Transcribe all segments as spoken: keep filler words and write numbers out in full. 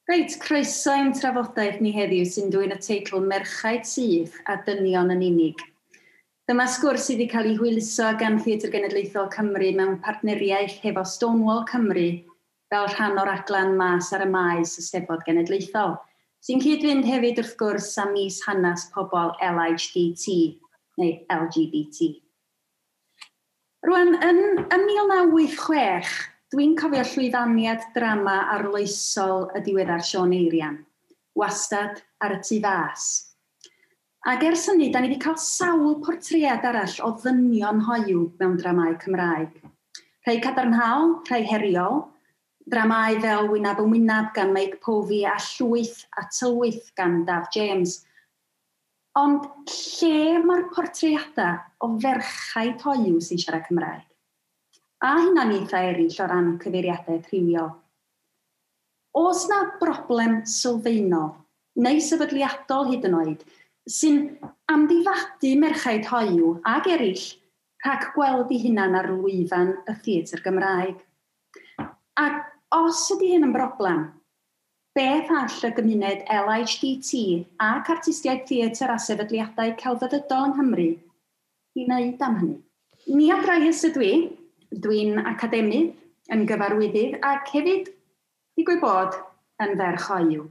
Reit, croeso i'n trafodaeth ni heddiw sy'n dwyn y teitl Merchaid Syth a Dynion yn Unig. Dyma sgwrs sydd wedi cael ei hwyluso gan Theatr Genedlaethol Cymru mewn partneriaeth hefo Stonewall Cymru fel rhan o'r raglen Mas ar y Maes y Steddfod Genedlaethol, sy'n cyd-fynd hefyd wrth gwrs â mis hanes pobl L H D T neu L G B T. Rwan, yn, yn mil naw wyth chwech, dwi'n cofio llwyfaniad drama arloesol y diweddar Siôn Eirian, Wastad ar y tu fas. Ac ers hynny, da ni wedi cael sawl portread arall o ddynion hoyw mewn dramâu Cymraeg. Rhai cadarnhaol, rhai heriol, dramâu fel Wynab yn Wynab gan Mike Povey a Llwyth a Tylwyth gan Daf James. Ond lle mae'r portreadau o ferchaid hoyw sy'n siarad Cymraeg? A hunaniaethau eraill o ran cyfeiriadau rhywiol. Oes na broblem sylfaenol, neu sefydliadol hyd yn oed, sy'n amddifadu merchaid hoyw ag eraill rhag gweld eu hunan ar lwyfan y theatr Gymraeg? Ac os ydy hyn yn broblem, beth all y gymuned L H D T ac artistiaid theatr a sefydliadau celfyddydol yng Nghymru i wneud am hynny? Nia Bryce ydw i, dwi'n academydd, yn gyfarwyddyd ac hefyd, digwydd bod, yn ferch hoyw.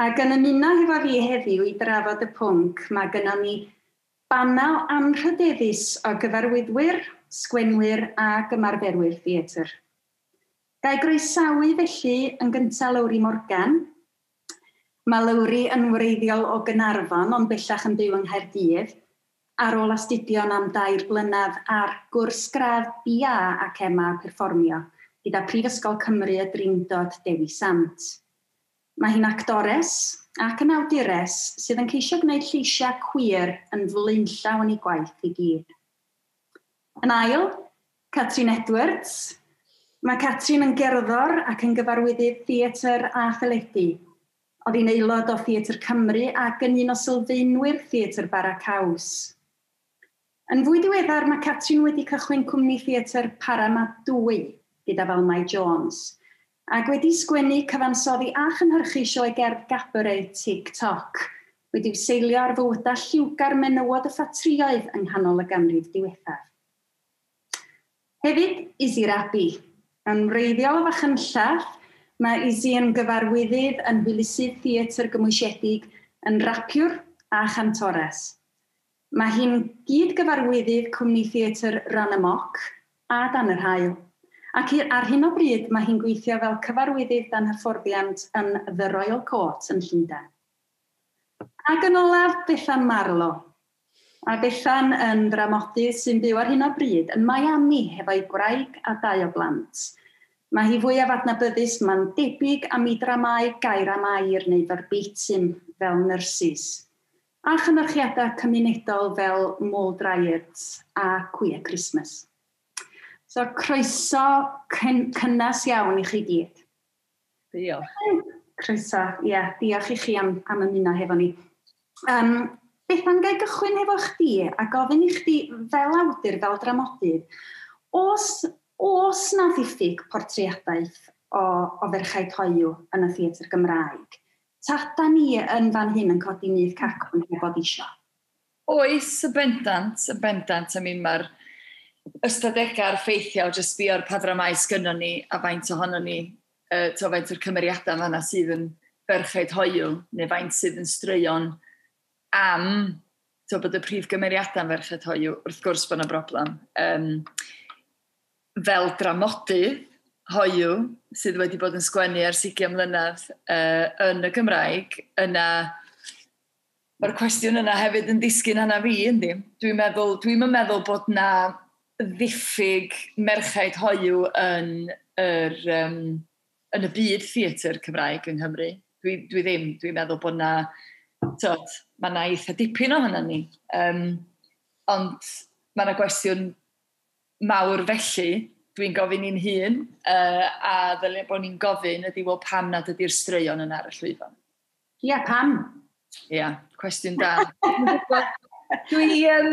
Ac yn ymuno hefo fi heddiw i drafod y pwnc, mae gynnon ni banel anrhydeddus o gyfarwyddwyr, sgwenwyr ac ymarferwyr theatr. Ga i groesawu felly yn gyntaf Lowri Morgan. Mae Lowri yn wreiddiol o Gaernarfon, ond bellach yn byw yng Nghaerdydd, ar ôl astudio'n am dair blynedd ar gwrs gradd B A ac M A Perfformio gyda Prifysgol Cymru y Drindod Dewi Sant. Mae hi'n actores ac yn awdures sydd yn ceisio gwneud lleisiau queer yn flaenllaw yn ei gwaith i gyd. Yn ail, Catrin Edwards. Mae Catrin yn gerddor ac yn gyfarwyddydd theatr a theledu. Oedd hi'n aelod o Theatr Cymru ac yn un o sylfaenwyr Theatr Bara Caws. Yn fwy diweddar, mae Catrin wedi cychwyn cwmni theatr Parama dwy gyda Valmai Jones, ac wedi sgwennu, cyfansoddi a chynhyrchu sioe gerdd gabaret TikTok, wedi'w seilio ar fywydau lliwgar menywod y ffatrïoedd yng nghanol y ganrif diwethaf. Hefyd, Izzy Rabey. Yn wreiddiol o Fachynlleth, mae Izzy yn gyfarwyddydd yn hwylusydd theatr gymwysiedig, yn rapiwr a chantores. Mae hi'n gyd-gyfarwyddydd cwmni theatr Run Amok a Dan yr Haul. Ac ar hyn o bryd mae hi'n gweithio fel cyfarwyddydd dan hyfforddiant yn The Royal Court yn Llundain. Ac yn olaf, Bethan Marlow. A Bethan yn ddramodydd sy'n byw ar hyn o bryd yn Miami hefo'i gwraig a dau o blant. Mae hi fwyaf adnabyddus, mae'n debyg am ei dramâu gair am air neu verbatim fel Nurses, a chynyrchiadau cymunedol fel Mole Dryads a Queer Christmas. So, croeso cynnes iawn i chi gyd. Diolch. Croeso, ie, yeah, diolch i chi am, am ymuno hefo ni. Um, Bethan, ga i gychwyn hefo chdi a gofyn i chdi fel awdur, fel dramodydd, oes, oes na ddiffyg portreadaeth o, o ferchaid hoyw yn y theatr Gymraeg? Ta da ni yn fan hyn yn codi nyth cacwn heb fod isio? Oes, y bendant, y bendant. I mean, mae'r ystadegau a'r ffeithiau, jyst sbio ar pa ddramâu sgynnon ni a faint ohonon ni, uh, to faint o'r cymeriadau fan'na sydd yn ferchaid hoyw, neu faint sydd yn straeon am to, bod y prif gymeriadau'n ferched hoyw, wrth gwrs bod yna broblem. Um, fel dramodydd hoyw sydd wedi bod yn sgwennu ers ugain mlynedd uh, yn y Gymraeg, yna mae'r cwestiwn yna hefyd yn disgyn arna fi, yndi? Dwi'n meddwl, dwi'm yn meddwl bod na ddiffyg merchaid hoyw yn, yr, um, yn y byd theatr Cymraeg yng Nghymru. Dwi, dwi ddim, dwi'n meddwl bod na, tod, mae na eitha dipyn ohono ni. Um, ond mae na gwestiwn mawr felly, dwi'n gofyn i'n hun, uh, a ddylia bod ni'n gofyn ydy, wel, pam nad ydy'r straeon yna ar y llwyfan? Ie, yeah, pam? Ie, yeah, cwestiwn da. Dwi, um,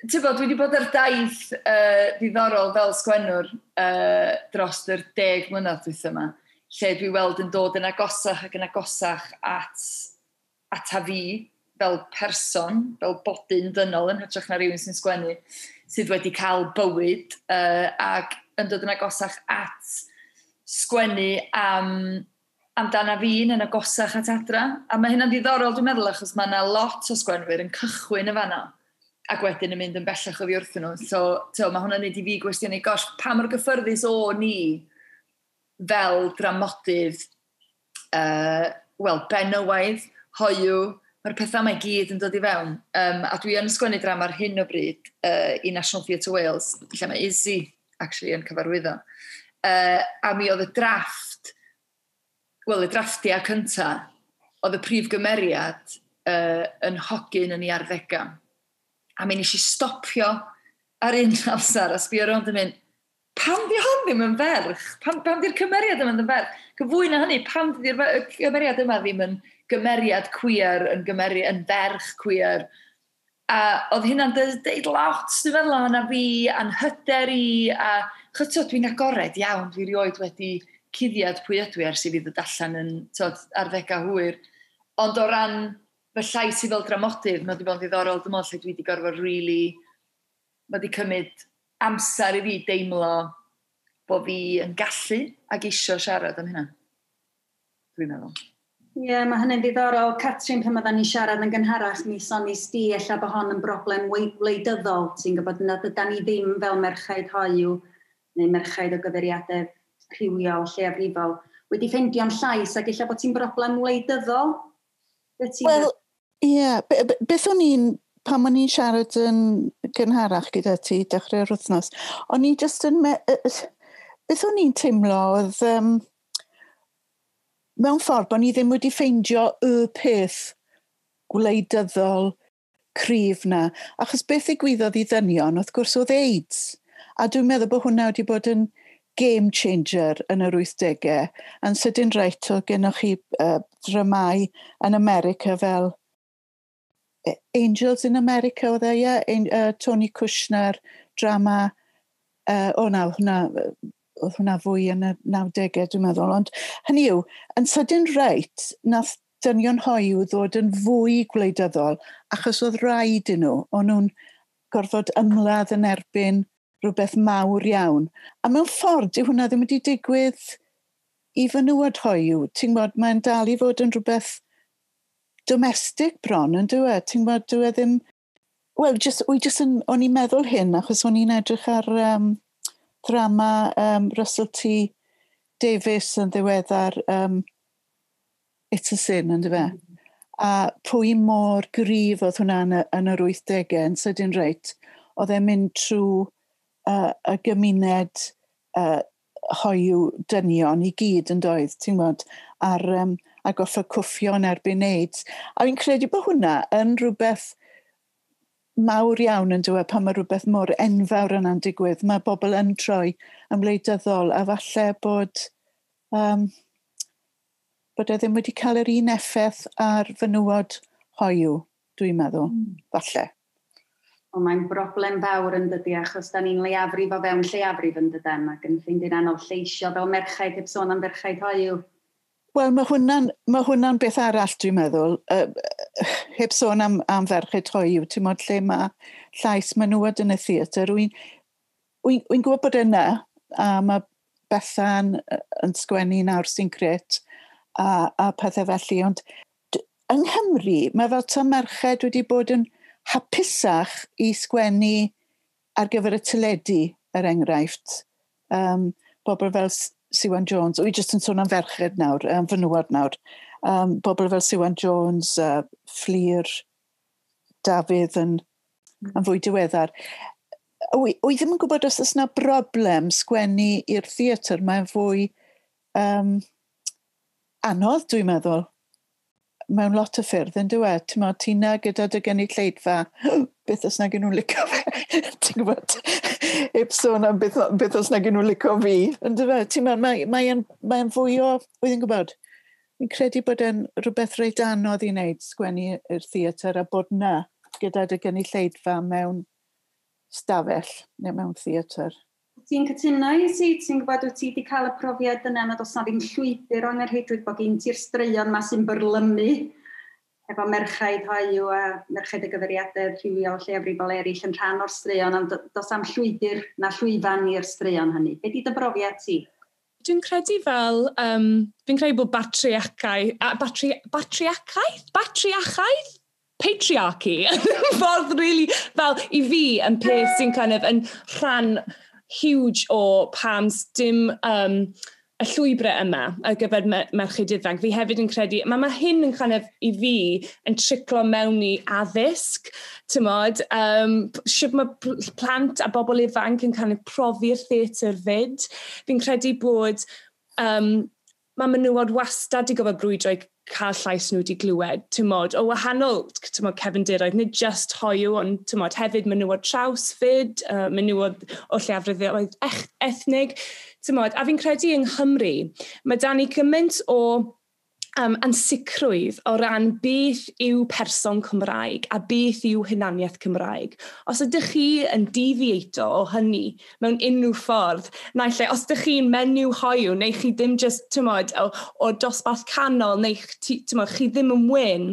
ti'n bod, dwi wedi bod ar daith uh, ddiddorol fel sgwennwr uh, dros yr deg mlynedd dwytha yma, Lle dwi weld yn dod yn agosach ac yn agosach at, ata fi fel person, fel bodyn dynol yn hytrach na rhywun sy'n sgwennu, sydd wedi cael bywyd uh, ac yn dod yn agosach at sgwennu am amdana fi yn agosach at adra. A mae hynna'n ddiddorol, dwi'n meddwl, achos mae yna lot o sgwenwyr yn cychwyn y fanna ac wedyn yn mynd yn bellach oddi wrthyn nhw. So, so mae hwnna'n neud i fi gwestiynu, gosh, pa mor gyffyrddus o ni fel dramodydd, uh, wel, benywaidd, hoiw, mae'r pethau 'ma i gyd yn dod i fewn. Um, a dwi yn sgwennu drama ar hyn o bryd uh, i National Theatre Wales, lle mae Izzy actually yn cyfarwyddo. Uh, a mi oedd y drafft, wel, y drafftiau cynta, oedd y prif gymeriad uh, yn hogyn yn ei arddegau. A mi nes i stopio ar un amser a sbio rownd yn mynd, "Pam di hon ddim yn ferch? Pam, pam di'r cymeriad yma ddim yn ferch?" Gyfwy na hynny, pam di'r cymeriad yma ddim yn gymeriad queer, yn, gymeriad, yn ferch queer? A oedd hynna'n deud lot, dwi'n meddwl, o'na fi, a'n hyder i, a chos dwi'n agored iawn, dwi rioed wedi cuddiad pwy ydw i ers i fi ddod allan yn tod, arddegau hwyr. Ond o ran fy llais i fel dramodydd, mae wedi bod yn ddiddorol, dwi'n meddwl, lle dwi wedi gorfod really, mae wedi cymryd amser i fi deimlo bod fi yn gallu ac isio siarad am hynna. Dwi'n meddwl. Ie, yeah, mae hynny'n ddiddorol. Catrin, pan oedden ni'n siarad yn gynharach, mi sonies di ella bod hon yn broblem wleidyddol. Ti'n gwybod nad ydan ni ddim fel merchaid hoiw neu merchaid o gyfeiriadau rhywiol, lleiafrifol, wedi ffeindio'n llais ac ella bod ti'n broblem wleidyddol? Wel, ie. Yeah. Beth o'n i'n, pan o'n i'n siarad yn gynharach gyda ti, dechrau'r wythnos, o'n i just yn... Me beth o'n i'n teimlo oedd, um, mewn ffordd, bod ni ddim wedi ffeindio y peth gwleidyddol cryf na. Achos beth ddigwyddodd i ddynion, wrth gwrs, oedd AIDS. A dwi'n meddwl bod hwnna wedi bod yn game changer yn yr wythdegau. A'n sydyn reit, oedd gennych chi uh, dramau yn America fel Angels in America oedd e, ie? Uh, Tony Kushner, drama, uh, o na, hwnna, oedd hwnna fwy yn y nawdegau, dwi'n meddwl. Ond hynny yw, yn sydyn reit, nath dynion hoiw ddod yn fwy gwleidyddol, achos oedd rhaid i nhw, o'n nhw'n gorfod ymladd yn erbyn rhywbeth mawr iawn. A mewn ffordd, dyw hwnna ddim wedi digwydd i fenywod hoiw. Ti'n gwybod, mae'n dal i fod yn rhywbeth domestic bron, yn dyw e? Ti'n gwybod, dyw e ddim. Wel, just, wy just yn, o'n i'n meddwl hyn, achos o'n i'n edrych ar um, drama um, Russell T Davies yn ddiweddar, um, It's a Sin, yn dyfe? Mm. A pwy mor gryf oedd hwnna yn, y, yn yr wythdegau, yn sydyn reit, oedd e'n mynd trwy uh, y gymuned uh, hoiw dynion i gyd yn doedd, ti'n gwybod, ar, um, a gorfod cwffio yn erbyn AIDS. A fi'n credu bod hwnna yn rhywbeth mawr iawn yn dweud pan mae rhywbeth mor enfawr yna'n digwydd. Mae bobl yn troi yn wleidyddol a falle bod, um, bod e ddim wedi cael yr un effaith ar fenywod hoiw, dwi'n meddwl, mm. falle. Ond mae'n broblem fawr yn dydy, achos da ni'n leiafrif o fewn lleiafrif yn dydan, ac yn ffeindio'n anodd lleisio fel merchaid heb sôn am ferchaid hoiw. Wel, mae hwnna'n ma hwnna beth arall, dwi'n meddwl. Uh, heb sôn am, am ferched hoiw, ti'n modd lle mae llais menywod yn y theatr. Wy'n wy, wy gwybod bod yna, a mae Bethan yn sgwennu nawr sy'n grêt, a, a pethau felly. Ond yng Nghymru, mae fel ta merched wedi bod yn hapusach i sgwennu ar gyfer y teledu, er enghraifft. Um, bobl fel Siwan Jones, wy jyst yn sôn am ferched nawr, um, fenywod nawr. Um, bobl fel Siwan Jones, uh, Fflur, Dafydd yn, yn fwy diweddar. Wy, wy ddim yn gwybod os oes yna broblem sgwennu i'r theatr, mae'n fwy um, anodd, dwi'n meddwl, mewn lot o ffyrdd, yn dweud. Ti'n meddwl, ti na gyda dy gynulleidfa, beth os nag nhw'n licio fe? Ti'n gwybod, heb sôn am beth, beth os nag nhw'n licio fi. Yn dweud, ti'n meddwl, mae'n mae, mae fwy o, wy'n gwybod, fi'n credu bod e'n rhywbeth reit anodd i wneud sgwennu i'r theatr a bod na gyda dy gynulleidfa mewn stafell neu mewn theatr. Ti'n cytuno i si? Ti'n gwybod, wyt ti wedi cael y profiad yna nad oes na ddim llwybr o'n rheidrwydd bod gen ti'r straeon ma sy'n byrlymu efo merchaid hoyw a merchaid y gyfeiriadau rhywiol lleiafrifol eraill yn rhan o'r straeon, ond does am llwybr na llwyfan i'r straeon hynny. Be di dy brofiad ti? Dwi'n credu fel, um, fi'n credu bod batriacau, a batri, batriacaeth? Batriachaeth? Patriarchy. Ffordd really, fel i fi yn peth sy'n kind of yn rhan huge o pam dim um, y llwybrau yma ar gyfer merched ifanc. Fi hefyd yn credu, mae, mae hyn yn kind of, i fi, yn triclo mewn i addysg, ti'mod, um, sut mae plant a bobl ifanc yn kind of profi'r theatr fyd. Fi'n credu bod um, mae menywod wastad i gofio brwydro i cael llais nhw wedi glywed, ti'mod, o wahanol, ti'mod, cefndiroedd, nid just hoyw, ond ti'mod, hefyd menywod traws fyd, uh, menywod o lleiafrifoedd ethnig, ti'mod, a fi'n credu yng Nghymru, mae da ni gymaint o um, ansicrwydd o ran beth yw person Cymraeg a beth yw hunaniaeth Cymraeg. Os ydych chi yn deviato o hynny mewn unrhyw ffordd, naill ai, os ydych chi'n menyw hoyw, neu chi ddim just, ti'mod, o, o dosbarth canol, neu ti'mod, chi ddim yn wyn,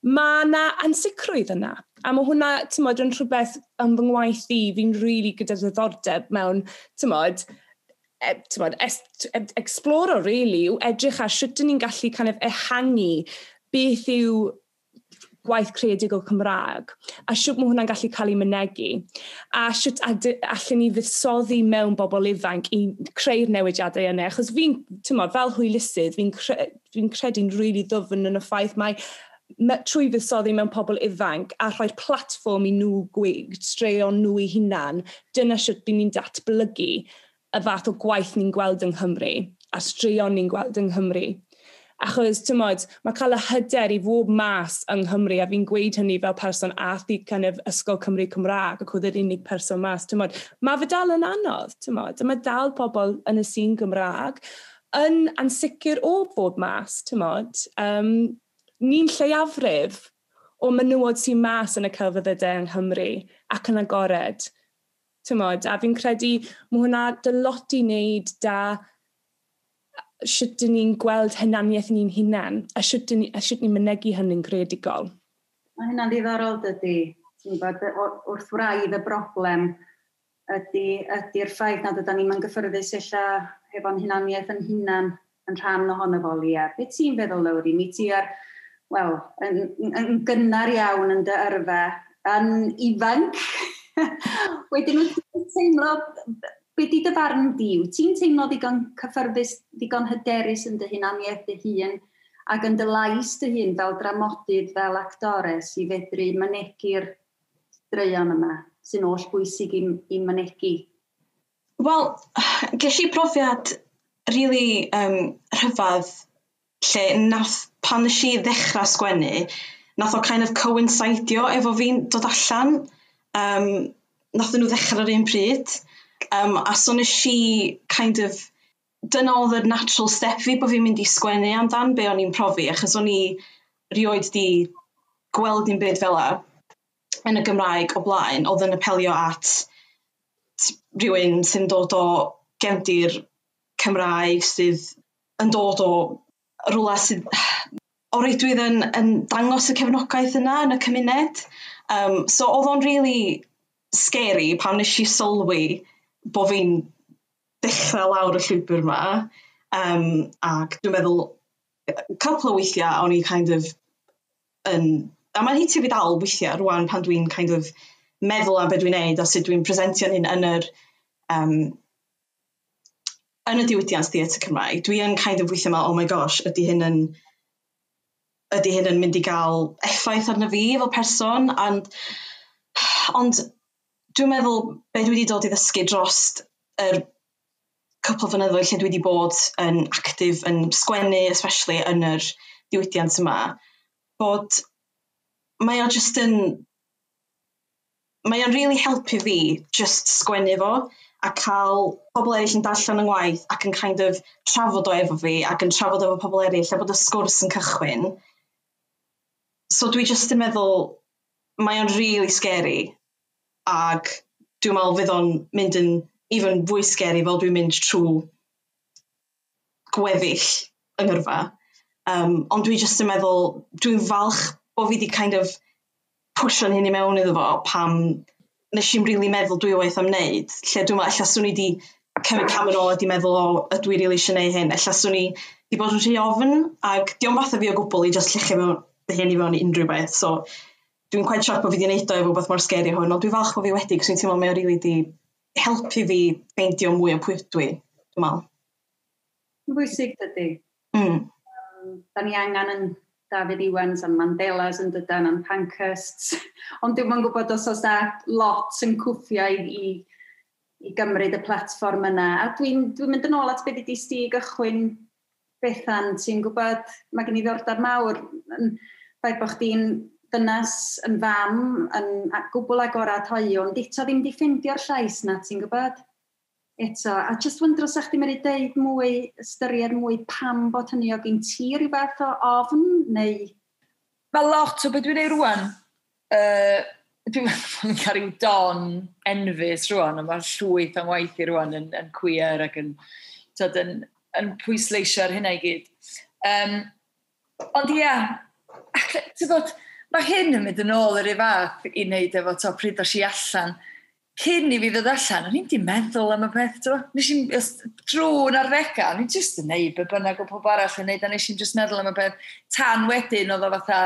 mae yna ansicrwydd yna. A mae hwnna, ti'mod, yn rhywbeth yn fy ngwaith i, fi'n rili really gyda ddiddordeb mewn, ti'mod, e, ti'mod, exploro, really, yw edrych ar sut dyn ni'n gallu kind of ehangu beth yw gwaith creadigol Cymraeg a sut mae hwnna'n gallu cael ei mynegi a sut allan ni fuddsoddi mewn bobl ifanc i creu'r newidiadau yna, achos fi'n, ti'mod, fel hwylusydd, fi'n cre fi credu'n rili really ddwfn yn y ffaith mae trwy fuddsoddi mewn pobl ifanc a rhoi'r platfform i nhw gweud straeon nhw eu hunan, dyna sut byd ni'n datblygu y fath o gwaith ni'n gweld yng Nghymru a straeon ni'n gweld yng Nghymru. Achos, ti'mod, mae cael y hyder i fod mas yng Nghymru, a fi'n gweud hynny fel person ath i kind of Ysgol Cymru Cymraeg ac oedd yr unig person mas, ti'mod, mae fe dal yn anodd, ti'mod, a mae dal pobl yn y sîn Gymraeg yn ansicr o fod mas, ti'mod. Um, ni'n lleiafrif o menywod sy'n mas yn y celfyddydau yng Nghymru ac yn agored. Ti'mod, a fi'n credu mae hwnna dy lot i wneud da sut dyn ni'n gweld hunaniaeth ni'n hunan a sut dyn ni, a sut ni'n mynegi hynny'n greadigol. Mae hynna'n ddiddorol, dydy. Ti'n gwybod, wrth wraidd y broblem ydy, ydy'r ffaith nad ydyn ni'n gyffyrddus ella hefo'n hunaniaeth yn hunan yn rhan ohono fo, Lia. Be ti'n feddwl, Lowri? Mi ti ar, wel, yn, yn gynnar iawn yn dy yrfa, yn ifanc. Wedyn, wyt ti'n teimlo, be di dy farn di? Wyt ti'n teimlo ddigon cyffyrddus, ddigon hyderus yn dy hunaniaeth dy hun ac yn dy lais dy hun fel dramodydd, fel actores i fedru mynegi'r straeon yma sy'n oll bwysig i, i mynegi? Wel, ges i profiad really um, rhyfedd lle nath, pan nes i ddechrau sgwennu, nath o kind of coincidio efo fi'n dod allan. Um, nath nhw ddechrau ar un pryd. Um, a so nes i kind of, dyna oedd y natural step fi bod fi'n mynd i sgwennu amdan be o'n i'n profi, achos o'n i rioed di gweld un byd fel 'a yn y Gymraeg o blaen, oedd yn apelio at rhywun sy'n dod o gefndir Cymraeg, sydd yn dod o rhywle sydd o reidrwydd yn, yn dangos y cefnogaeth yna yn y cymuned. Um, so oedd o'n really scary pan nes i sylwi bod fi'n dechrau lawr y llwybr yma. Um, ac dwi'n meddwl, couple o weithiau o'n i kind of yn... A mae'n hitio fi dal weithiau rwan pan dwi'n kind of meddwl am beth dwi'n neud a sut dwi'n presentio hyn yn yr, um, yn y diwydiant theatr Cymraeg. Dwi yn kind of weithiau meddwl, "Oh my gosh, ydy hyn yn ydy hyn yn mynd i gael effaith arno fi fel person?" And, ond dwi'n meddwl be dwi wedi dod i ddysgu dros yr cwpl o flynyddoedd lle dwi wedi bod yn actif yn sgwennu, especially yn yr diwydiant yma, bod mae o just yn mae o'n really helpu fi just sgwennu fo a cael pobl eraill yn darllen yng ngwaith ac yn kind of trafod o efo fi ac yn trafod efo pobl eraill a bod y sgwrs yn cychwyn. So dwi just yn meddwl mae o'n really scary ac dwi'n meddwl fydd o'n mynd yn even fwy scary fel dwi'n mynd trwy gweddill yng ngyrfa. Um, ond dwi jyst yn meddwl, dwi'n falch bod fi wedi kind of pwsio'n hyn i mewn iddo fo pam nes i'n rili really meddwl dwywaith am wneud. Lle dwi'n meddwl, ella swn i wedi cymryd cam yn ôl a di meddwl, o, ydw i rili eisiau gwneud hyn. Ella swn i wedi bod yn rhy ofn, ac dio'm fatha fi o gwbl i just lluchio mewn fy hun i fewn i unrhyw beth. So dwi'n quite shocked bod fi wedi gwneud o efo beth mor scary hwn, ond dwi'n falch bod fi wedi, cos dwi'n teimlo mae o rili di helpu fi ffeindio mwy o pwy ydw i, dwi'n meddwl. Yn bwysig dydy. Mm. Um, da ni angen yn Dafydd Iwans a'n Mandelas yn dydan a'n Pankhursts. Ond dwi'm yn gwybod os oes na lot yn cwffio i, i, i gymryd y platfform yna. A dwi'n dwi mynd yn ôl at beth ydi sti gychwyn Bethan, ti'n gwybod, mae gen i ddiddordeb mawr yn ffaith bod chdi'n dynas yn fam, yn gwbl agorad hoyw, ond eto ddim di ffeindio'r llais na, ti'n gwybod? Eto, a just wyndro sa chdi medru deud mwy, ystyried mwy pam bod hynny o gen ti rhyw fath o ofn, neu... Mae lot o beth dwi'n neud rwan, uh, dwi'n meddwl cael rhyw don enfys rwan, ond mae'r llwyth o'n waith i rwan yn, yn queer ac yn, tyd, yn, yn pwysleisio ar hynna i gyd. Um, ond ia, ti'n bod, mae hyn yn mynd yn ôl yr un fath i wneud efo to, pryd os i allan. Cyn i fi ddod allan, o'n i'n di meddwl am y peth, to. Nes i'n, drwy'n arddegau, o'n i'n just yn neud be bynnag o pob arall yn neud, a nes i'n just meddwl am y peth. Tan wedyn oedd o fatha,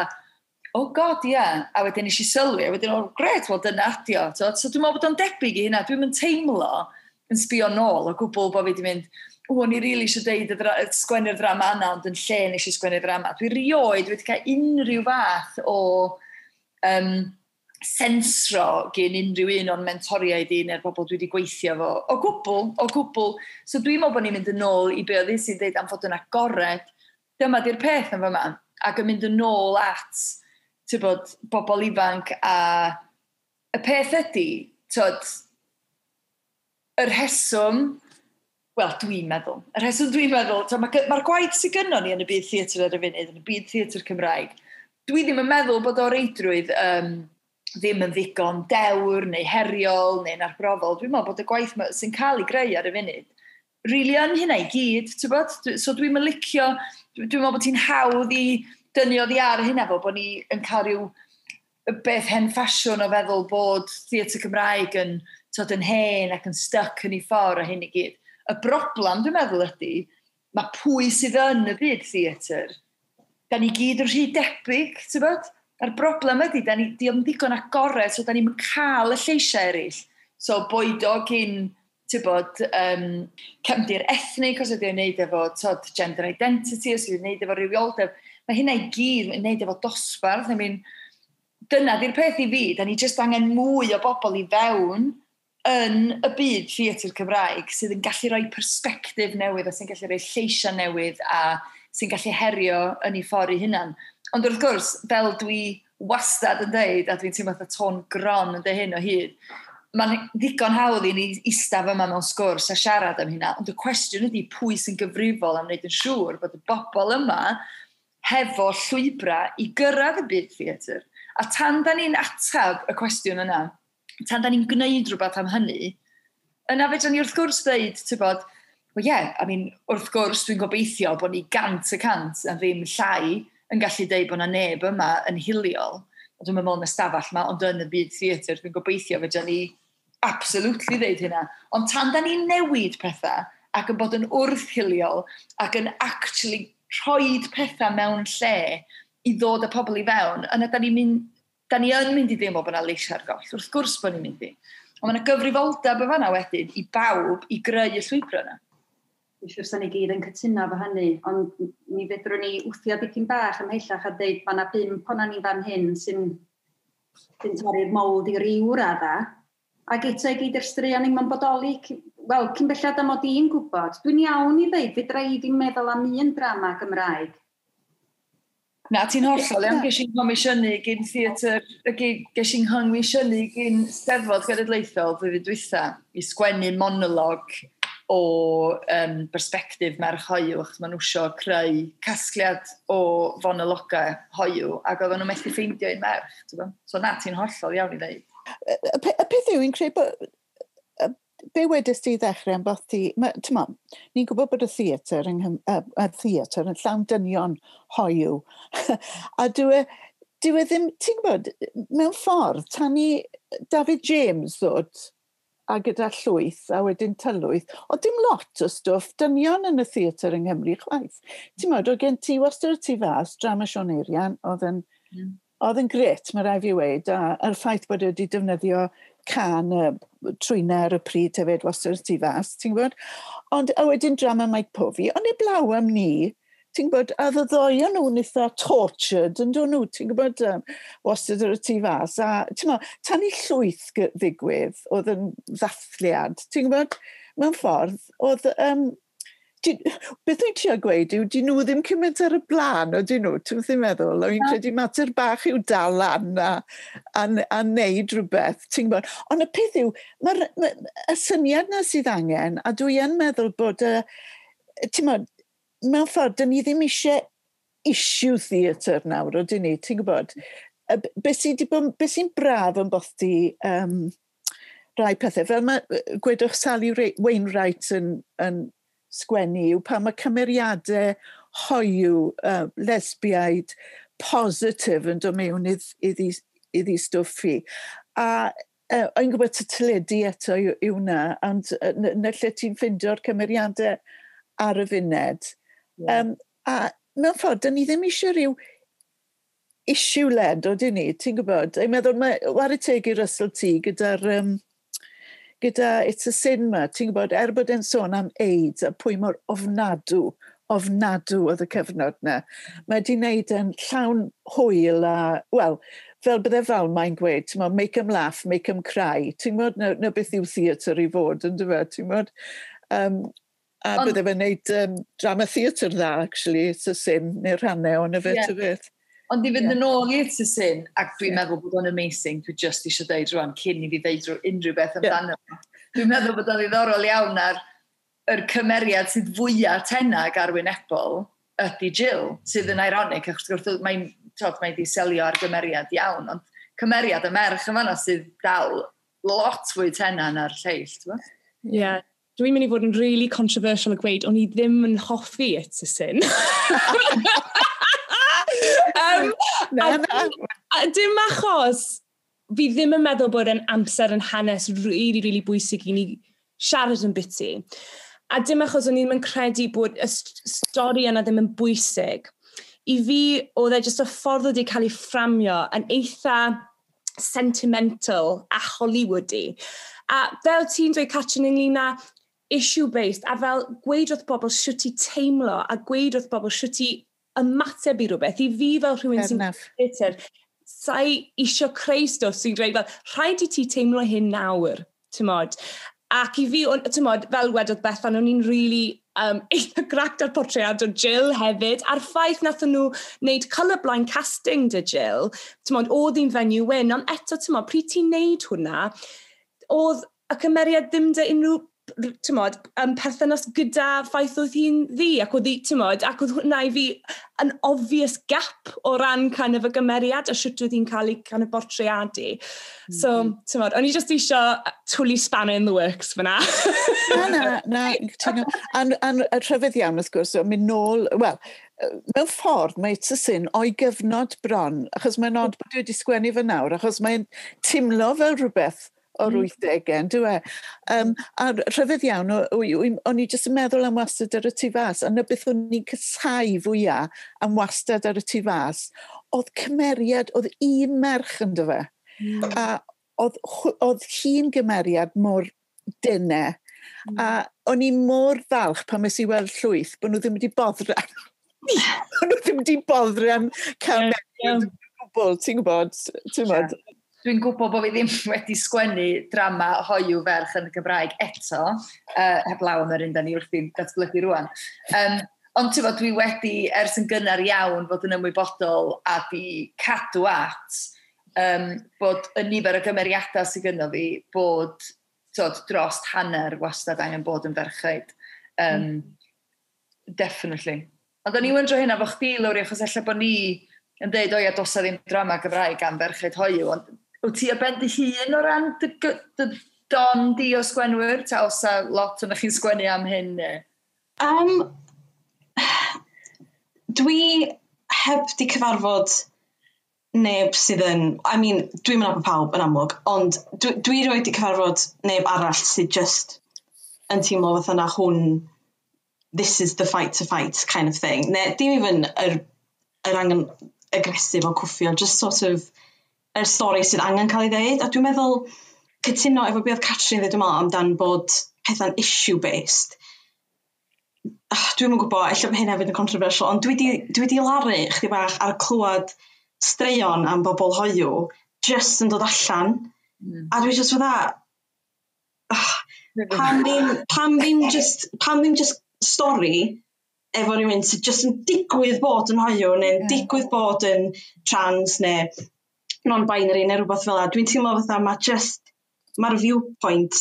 oh god, ia. Yeah. A wedyn nes i sylwi, a wedyn, oh gret, wel dyna adio. To. So dwi'n meddwl bod o'n debyg i hynna, dwi'n mynd teimlo yn sbio nôl o gwbl bod fi wedi mynd, o, o'n i rili eisiau deud y dra sgwennu'r ddrama yna, ond yn lle nes i sgwennu'r ddrama. Dwi rioed wedi cael unrhyw fath o um, sensro gen unrhyw un o'n mentoriaid i neu'r bobl dwi wedi gweithio fo. O gwbl, o gwbl. So dwi'n meddwl bod ni'n mynd yn ôl i be oedd sy'n deud am fod yn agored. Dyma di'r peth yn fyma. Ac yn mynd yn ôl at, ti'n bod, bobl ifanc a y peth ydy, tyd, y rheswm, wel, dwi'n meddwl, y rheswm dwi'n meddwl, mae'r ma gwaith sydd gynnon ni yn y byd theatr ar y funud, yn y byd theatr Cymraeg, dwi ddim yn meddwl bod o reidrwydd um, ddim yn ddigon dewr neu heriol neu'n arbrofol. Dwi'n meddwl bod y gwaith sy'n cael ei greu ar y funud, rili yn hynna i gyd, ti'n bod? So dwi'n mynd licio, dwi'n meddwl bod ti'n hawdd i dynnu oddi ar hynna fo, bod ni yn cael rhyw beth hen ffasiwn o feddwl bod theatr Cymraeg yn, tod, yn hen ac yn stuck yn ei ffordd a hyn i gyd. Y broblem, dwi'n meddwl, ydy, mae pwy sydd yn y byd theatr, da ni gyd yn rhy debyg, ti'n bod? A'r broblem ydy, da ni di ddigon agored, so da ni'n cael y lleisiau eraill. So boed o gyn, ti'n bod, um, cefndir ethnig, os ydy o'n neud efo tod, gender identity, os ydy o'n neud efo rhywioldeb, mae hynna i gyd yn neud efo dosbarth. I mean, dyna di'r peth i fi, da ni jyst angen mwy o bobl i fewn yn y byd theatr Cymraeg sydd yn gallu rhoi persbectif newydd a sy'n gallu rhoi lleisiau newydd a sy'n gallu herio yn ei ffordd ei hunan. Ond wrth gwrs, fel dwi wastad yn deud, a dwi'n teimlo fatha tôn gron yn deud hyn o hyd, mae'n ddigon hawdd i ni eistedd yma mewn sgwrs a siarad am hynna, ond y cwestiwn ydy pwy sy'n gyfrifol am wneud yn siŵr bod y bobl yma hefo llwybrau i gyrraedd y byd theatr. A tan da ni'n atab y cwestiwn yna, tan da ni'n gwneud rhywbeth am hynny, yna fedra ni wrth gwrs dweud, ti'n bod, well yeah, I mean, wrth gwrs dwi'n gobeithio bod ni gant y cant a ddim llai yn gallu deud bod na neb yma yn hiliol. Dwi'n meddwl yn y stafell yma, ond yn y byd theatr, dwi'n gobeithio fedra ni absolutely ddeud hynna. Ond tan da ni'n newid pethau ac yn bod yn wrth-hiliol ac yn actually rhoid pethau mewn lle i ddod â pobl i fewn, yna da ni'n mynd, da ni yn mynd i deimlo bod yna leisiau ar goll. Wrth gwrs bod ni'n mynd i. Ond mae yna gyfrifoldeb y fanna wedyn i bawb i greu y llwybr yna. Dwi'n siŵr sa'n ni gyd yn cytuno efo hynny, ond mi fedrwn ni wthio dipyn bach ymhellach a deud mae yna bump o'na ni fan hyn sy'n sy'n torri'r mold i ryw radda, ac eto i gyd yr straeon ni'n ma'n bodoli, wel, cyn belled am mod i'n gwybod, dwi'n iawn i ddeud, fedra i ddim meddwl am un drama Gymraeg. Na, ti'n hollol iawn, ges i'n comisiynu gyn theatr, ges i'n comisiynu gyn Steddfod Genedlaethol flwyddyn dwytha i sgwennu monolog o um, bersbectif merch hoyw, achos maen nhw isio creu casgliad o fonologau hoyw, ac oedden nhw methu ffeindio un merch. Ti'n So na, ti'n hollol iawn i ddeud. Y, y peth yw, i'n credu bod Be wedys ti i ddechrau am bod ti... T'mo, ni'n gwybod bod y theatr yng Nghym, y, y theatr yn llawn dynion hoyw. A dwi, e, dwi e ddim, ti'n gwybod, mewn ffordd, tan i David James ddod a gyda llwyth a wedyn tylwyth, o dim lot o stwff dynion yn y theatr yng Nghymru chwaith. Ti'n meddwl, oedd gen ti wastad y tu fas, drama Siôn Eirian, oedd yn, mm. oedd yn gret, mae rai fi weud, a a'r ffaith bod wedi defnyddio can y trwynau ar y pryd hefyd wastad y tu fas, ti'n gwybod? Ond a wedyn drama Mike Povey, ond heblaw am ni, ti'n gwybod, a y ddoi o'n nhw'n eitha tortured, yn dod nhw, ti'n gwybod, um, wastad ar y tu fas. A, ti'n gwybod, tan i llwyth ddigwydd, oedd yn ddathliad, ti'n gwybod, mewn ffordd, oedd, um, di, beth wy'n trio gweud yw, di nhw ddim cymaint ar y blaen, o di nhw, ti'n ddim meddwl, o'n i'n credu mater bach yw dal lan a, a, a neud rhywbeth, ti'n gwybod. Ond y peth yw, mae'r ma, y syniad na sydd angen, a dwi yn meddwl bod, y, ti'n gwybod, mewn ffordd, dyn ni ddim eisiau issue theatr nawr, o dyn ni, ti'n gwybod? Be sy'n be sy braf yn bothdi um, rai pethau, fel mae, gwedwch Sally Wainwright yn, yn sgwennu, yw pan mae cymeriadau hoyw, uh, lesbiaid, positif yn dod mewn iddi, iddi stwff hi. A uh, o'n gwybod y teledu eto yw, yw hwnna, ond uh, na lle ti'n ffeindio'r cymeriadau ar y funed. Yeah. Um, a mewn ffordd, dyn ni ddim eisiau rhyw issue-led, o dyn ni, ti'n gwybod? Dwi'n meddwl, mae whare teg i Russell T gyda'r um, gyda It's a Sin ma, ti'n gwybod, er bod e'n sôn am AIDS a pwy mor ofnadw, ofnadw oedd y cyfnod na. Mae di wneud yn llawn hwyl a, wel, fel bydde fel mae'n gweud, ti'n gwybod, make 'em laugh, make 'em cry. Ti'n gwybod, na, na beth yw theatr i fod, yn dweud, ti'n gwybod? Um, A Ond, bydde fe'n neud um, drama theatr dda, actually, It's a Sin, neu rhannau o'n y fe, yeah. Beth. Ond i fynd yeah. yn ôl i It's a Sin, ac dwi'n yeah. meddwl bod o'n amazing, dwi just eisiau deud rwan, cyn i fi ddeud unrhyw beth amdano. Yeah. Dwi'n meddwl bod o'n ddiddorol iawn ar yr cymeriad sydd fwyaf tenag arwynebol ydy Jill, sydd yn ironic, achos wrth mae'n mae di selio ar gymeriad iawn, ond cymeriad y merch yma sydd dal lot fwy tena na'r lleill, ti'n Ie. Yeah. Dwi'n mynd i fod yn really controversial a gweud, o'n i ddim yn hoffi It's a Sin. um, na, na. A, a dim achos fi ddim yn meddwl bod yn amser yn hanes really, really bwysig i ni siarad yn biti. A dim achos o'n i ddim yn credu bod y stori yna ddim yn bwysig. I fi, oedd e jyst y ffordd wedi cael ei fframio yn eitha sentimental a Hollywoody. A fel ti'n dweud, Catrin, ynglyn â issue-based, a fel gweud wrth bobl sut i teimlo, a gweud wrth bobl sut i ymateb i rhywbeth. I fi fel rhywun sy'n theatr, sa'i isio creu stwff sy'n dweud fel, rhaid i ti teimlo hyn nawr, ti'n Ac i fi, ti'n fel wedodd Bethan, o'n i'n really um, eitha gract ar portread o Jill hefyd, a'r ffaith nath nhw wneud colourblind casting dy Jill, ti'n oedd hi'n fenyw wyn, ond eto, ti'n pryd ti'n neud hwnna, oedd y cymeriad ddim dy unrhyw tymod, um, perthynas gyda ffaith oedd hi'n ddi, ac oedd hi, tymod, ac oedd hwnna i fi an obvious gap o ran kind of y gymeriad a sut oedd hi'n cael ei kind of bortreadu. Mm -hmm. So, tymod, o'n i just eisiau twlu spanner in the works fyna. Na, na, na. A, a, a rhyfedd iawn, wrth gwrs, mynd nôl, wel, mewn ffordd mae It's a Sin o'i gyfnod bron, achos mae'n od bod wedi sgwennu fy nawr, achos mae'n teimlo fel rhywbeth o'r mm. wythdegau, yn dyw e? Um, a rhyfedd iawn, o'n i jyst yn meddwl am wastad ar y tu fas, a na beth o'n i'n casáu fwyaf am wastad ar y tu fas, oedd cymeriad, oedd un merch yn fe. Mm. A oedd, oedd hi'n gymeriad mor dyne. Mm. A o'n i mor falch pan nes i weld llwyth bod nhw ddim wedi boddran. Bod nhw ddim wedi boddran cael yeah, yeah. gwbl, ti'n gwybod? Ti'n gwybod? Yeah. Dwi'n gwybod bod fi ddim wedi sgwennu drama hoyw ferch yn y Gymraeg eto, uh, heblaw am yr un da ni wrthi'n datblygu rwan. Um, ond ti'n bod, dwi wedi ers yn gynnar iawn fod yn ymwybodol a di cadw at um, bod y nifer o gymeriadau sydd gynno fi bod tod, dros hanner wastad angen bod yn ferchaid. Um, mm. Definitely. Ond o'n i wyndro hynna fo chdi, Lowri, achos ella bod ni yn deud, o ia, does 'na ddim drama Gymraeg am ferchaid hoyw, ond wyt ti ar ben dy hun o ran dy, dy, don di o sgwenwyr, ta os a lot o'n chi'n sgwennu am hyn? Neu? Um, dwi heb di cyfarfod neb sydd yn, I mean, dwi'n mynd pawb yn amlwg, ond dwi, dwi rioed di cyfarfod neb arall sydd just yn teimlo fatha na hwn, this is the fight to fight kind of thing. Ne, dim even yr, yr angen agresif o cwffio, just sort of yr stori sydd angen cael ei ddeud. A dwi'n meddwl, cytuno efo beth oedd Catrin ddweud, dwi'n meddwl, amdan bod pethau'n issue-based. Ah, dwi'm yn gwybod, ella bod hyn hefyd yn controversial, ond dwi di, dwi di laru chdi bach ar clywed straeon am bobl hoiw just yn dod allan. Mm. A dwi just fatha, ah, pam ddim, pam ddim just, pam ddim just stori efo rhywun sydd just yn digwydd bod yn hoiw neu'n yeah. digwydd bod yn trans neu non-binary neu rhywbeth fel 'na. Dwi'n teimlo fatha mae just, mae'r viewpoint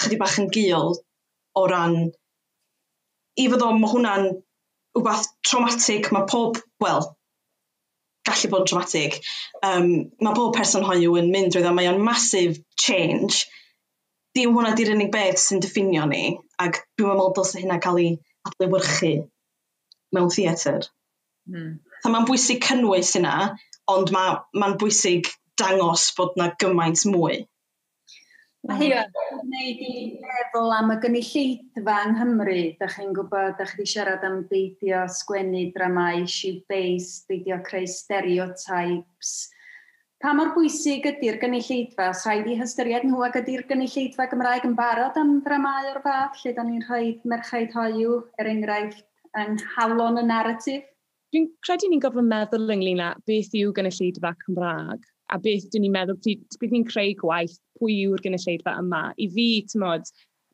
chydig bach yn gul o ran, i fod o, mae hwnna'n rhywbeth traumatic, mae pob, wel, gallu bod yn traumatic. Um, mae pob person hoyw yn mynd drwy ddo, mae o'n massive change. Dim hwnna di'r unig beth sy'n diffinio ni, ac dwi'n meddwl dylse hynna cael ei adlewyrchu mewn theatr. Mm. Mae'n bwysig cynnwys hynna, ond mae'n ma bwysig dangos bod na gymaint mwy. Mae hyn yn gwneud i meddwl am y gynulleidfa yng Nghymru. Da chi'n gwybod, da chi wedi siarad am beidio sgwennu dramau issue-based, beidio creu stereotypes. Pa mor bwysig ydy'r gynulleidfa? Os rhaid i hystyried nhw ac ydy'r gynulleidfa Gymraeg yn barod am dramau o'r fath, lle da ni'n rhoi merchaid hoyw, er enghraifft, yng nghalon y narratif? Dwi'n credu ni'n gorfod meddwl ynglyn â beth yw gynulleidfa Cymraeg a beth dyn ni'n meddwl, pryd ni'n creu gwaith, pwy yw'r gynulleidfa yma. I fi, ti'mod,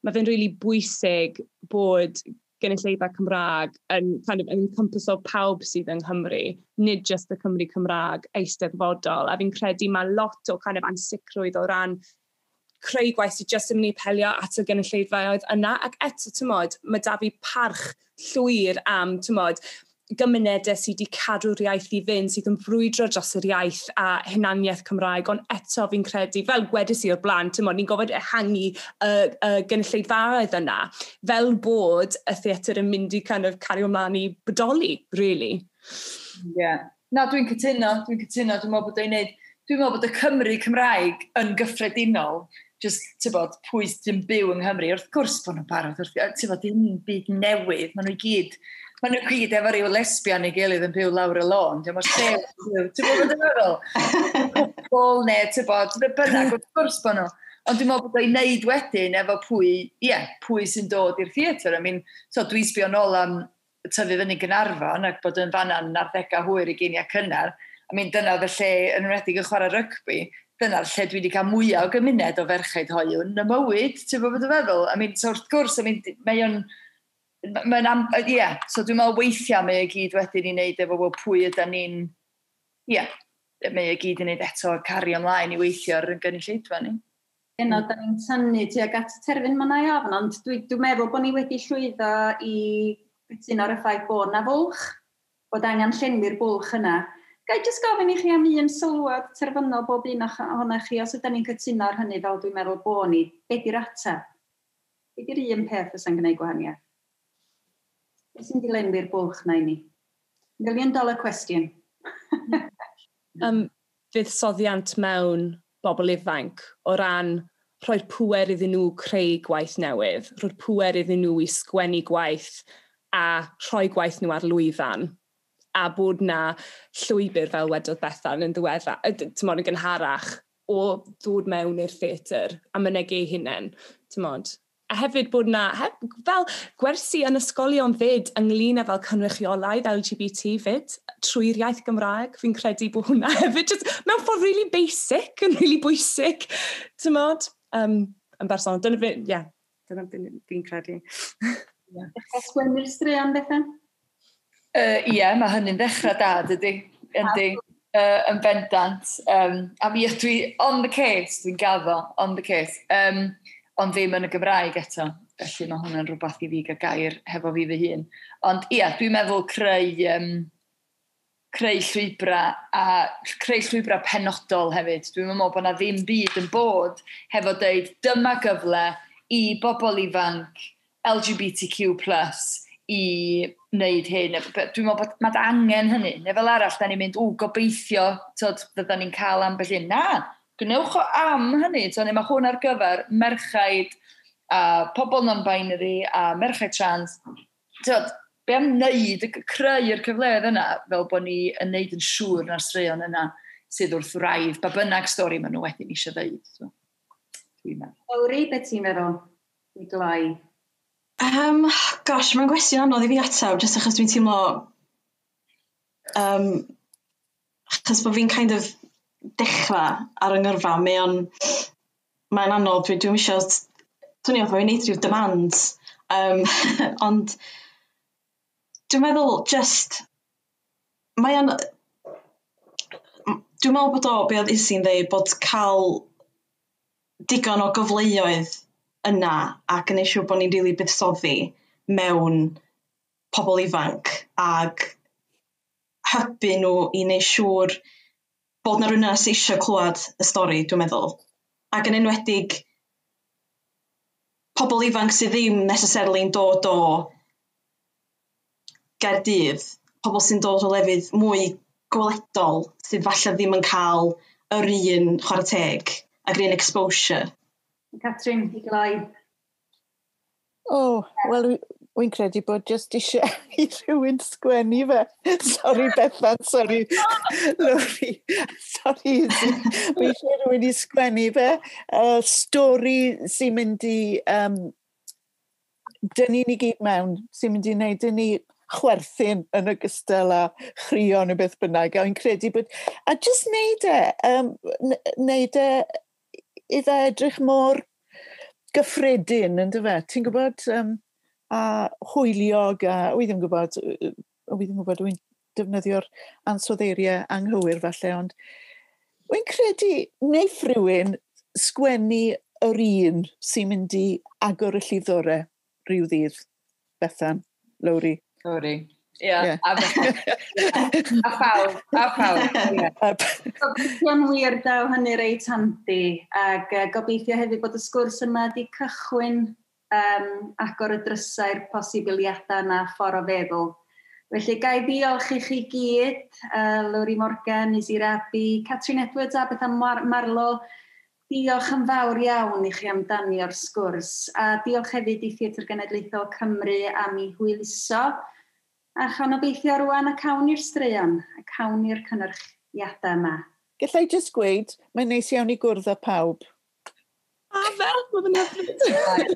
mae fe'n rili really bwysig bod gynulleidfa Cymraeg yn kind of encompasso pawb sydd yng Nghymru, nid just y Cymru Cymraeg eisteddfodol. A fi'n credu mae lot o kind of ansicrwydd o ran creu gwaith sydd jyst yn mynd i apelio at y gynulleidfaoedd yna. Ac eto, ti'mod, mae da fi parch llwyr am, ti'mod, gymunedau sydd wedi cadw'r iaith i fynd, sydd yn brwydro dros yr iaith a hunaniaeth Cymraeg, ond eto fi'n credu, fel gwedais i o'r blaen, ti'mod, ni'n gorfod ehangu y, y gynulleidfaoedd yna, fel bod y theatr yn mynd i kind of cario ymlaen i bodoli, really. Yeah. Na, dwi'n cytuno, dwi'n cytuno, dwi'n meddwl bod o'n neud, dwi'n meddwl bod y Cymru Cymraeg yn gyffredinol, just, ti'n bod, pwy sy'n byw yng Nghymru, wrth gwrs bod nhw'n barod, wrth, ti'n bod, dim byd newydd, maen nhw i gyd, maen nhw gyd efo ryw lesbian ei gilydd yn byw lawr y lôn, ti'n bod, lle, ti'n bod yn meddwl? Cwpl neu, ti'n bod, be bynnag, wrth gwrs bod nhw. Ond dwi'n meddwl bod o'n neud wedyn efo pwy, ie, yeah, pwy sy'n dod i'r theatr. I mean, so dwi'n sbio nôl am tyfu fyny Gaernarfon ac bod yn fanna'n arddegau hwyr i ugeiniau cynnar. I mean, dyna oedd y lle, yn enwedig yn chwarae rygbi, dyna'r lle dwi wedi cael mwyaf o gymuned o ferchaid hoyw yn y mywyd, ti'n bod yn feddwl? I mean, so wrth gwrs, I mean, mae o'n, mae'n am, ie, yeah, so dwi'n meddwl weithiau mae o gyd wedyn i wneud efo, wel, pwy ydy ni'n, ie, yeah, mae o gyd i wneud eto cario ymlaen i weithio ar y gynulleidfa ni. Eno, da ni'n tynnu tuag at y terfyn mae'n ei ofn, ond dwi, dwi'n meddwl bod ni wedi llwyddo i gytuno ar y ffaith bod na fwlch, bod angen llenwi'r bwlch yna. Ga i jyst gofyn i chi am un sylwad terfynol bob un ohonoch chi, os ydyn ni'n cytuno ar hynny fel dwi'n meddwl bod ni, be di'r ateb? Be di'r un peth fysa'n gwneud gwahaniaeth? Be sy'n di lenwi'r bwlch na i ni? Million dollar question. um, fuddsoddiant mewn bobl ifanc o ran rhoi'r pŵer iddyn nhw creu gwaith newydd, rhoi'r pŵer iddyn nhw i sgwennu gwaith a rhoi gwaith nhw ar lwyfan a bod na llwybr fel wedodd Bethan yn ddiweddar, ti'mod, yn gynharach o ddod mewn i'r theatr a mynegu eu hunain, ti'mod. A hefyd bod na, heb, fel gwersi yn ysgolion fyd ynglyn â fel cynrychiolaeth L G B T fyd, trwy'r iaith Gymraeg, fi'n credu bod hwnna hefyd, just, mewn ffordd really basic, yn really bwysig, ti'mod, um, yn bersonol. Dyna fi, ie, yeah, dyna fi'n credu. Yeah. Dechrau sgwennu'r straeon, Bethan? Ie, uh, yeah, mae hynny'n ddechrau da, dydy. Yndi, uh, yn bendant. Um, a mi ydw i on the case, dwi'n gaddo, on the case. Um, ond ddim yn y Gymraeg eto. Felly mae hwnna'n rhywbeth i fi gael gair hefo fi fy hun. Ond ie, yeah, dwi'n meddwl creu, um, creu llwybrau a creu llwybrau penodol hefyd. Dwi'n meddwl bod na ddim byd yn bod hefo deud dyma gyfle i bobl ifanc L G B T Q plus i wneud hyn. Dwi'n meddwl bod mae angen hynny. Neu fel arall, da ni'n mynd, "Ww, gobeithio, tod, fydda ni'n cael ambell un." Na, gwnewch o am hynny. Tod, mae hwn ar gyfer merchaid a pobl non-binary a merchaid trans. Tod, be am wneud, creu'r cyfleoedd yna, fel bod ni yn wneud yn siŵr na'r straeon yna sydd wrth wraidd, ba bynnag stori maen nhw wedyn eisiau ddeud. So, dwi'n meddwl. Lowri, beth ti'n meddwl i gloi? Um, gosh, mae'n gwestiwn anodd i fi ateb, jyst achos dwi'n teimlo, Um, achos bod fi'n kind of dechrau ar yng ngyrfa, mae o'n... Mae'n anodd, dwi, dwi'n eisiau... Swnio fatha fi'n neud rhyw demands. Um, ond dwi'n meddwl just... Mae o'n... Dwi'n meddwl bod o, be oedd Isi'n dweud, bod cael digon o gyfleoedd yna ac yn eisiau bod ni'n rili really buddsoddi mewn pobl ifanc ac hybu nhw i wneud siŵr bod na rhywun yna sydd eisiau clywed y stori, dwi'n meddwl. Ac yn enwedig pobl ifanc sydd ddim necessarily'n dod o Gaerdydd, pobl sy'n dod o lefydd mwy gweledol sydd falle ddim yn cael yr un chwarae teg ac yr un exposure. Catrin, i gloi. O, oh, wel, wy'n credu bod jyst eisiau i rhywun sgwennu fe. Sorry Bethan, sorry Lowri, sorry Izzy. Mae eisiau rhywun i sgwennu fe. Uh, stori sy'n mynd i um, dynnu ni gyd mewn, sy'n mynd i wneud i ni chwerthin yn ogystal â chrio neu beth bynnag. A wy'n credu bod... A jyst neud e, um, neud e iddo edrych mor gyffredin, yn dyfe? Ti'n gwybod, um, a hwyliog, a wy ddim yn gwybod, wy ddim yn gwybod, wy'n defnyddio'r ansoddeiriau anghywir falle, ond wy'n credu neiff rhywun sgwennu yr un sy'n mynd i agor y llifddorau rhyw ddydd. Bethan, Lowri. Lowri. Ie, yeah. a, a phawb, a phawb. Yeah. Gobeithio'n wir daw hynny reit handi, ac gobeithio hefyd bod y sgwrs yma wedi cychwyn um, agor y drysau'r posibiliadau na ffordd o feddwl. Felly, gai ddiolch i chi gyd, uh, Lowri Morgan, Izzy Rabey, Catrin Edwards a Bethan Mar Marlow. Diolch yn fawr iawn i chi am danio'r sgwrs, a diolch hefyd i Theatr Genedlaethol Cymru am ei hwyluso. A chawn obeithio rwan a cawn i'r straeon, a cawn i'r cynyrchiadau yma. Gallai jyst gweud, mae'n neis iawn i gwrdd â pawb. A fel, mae'n hyfryd.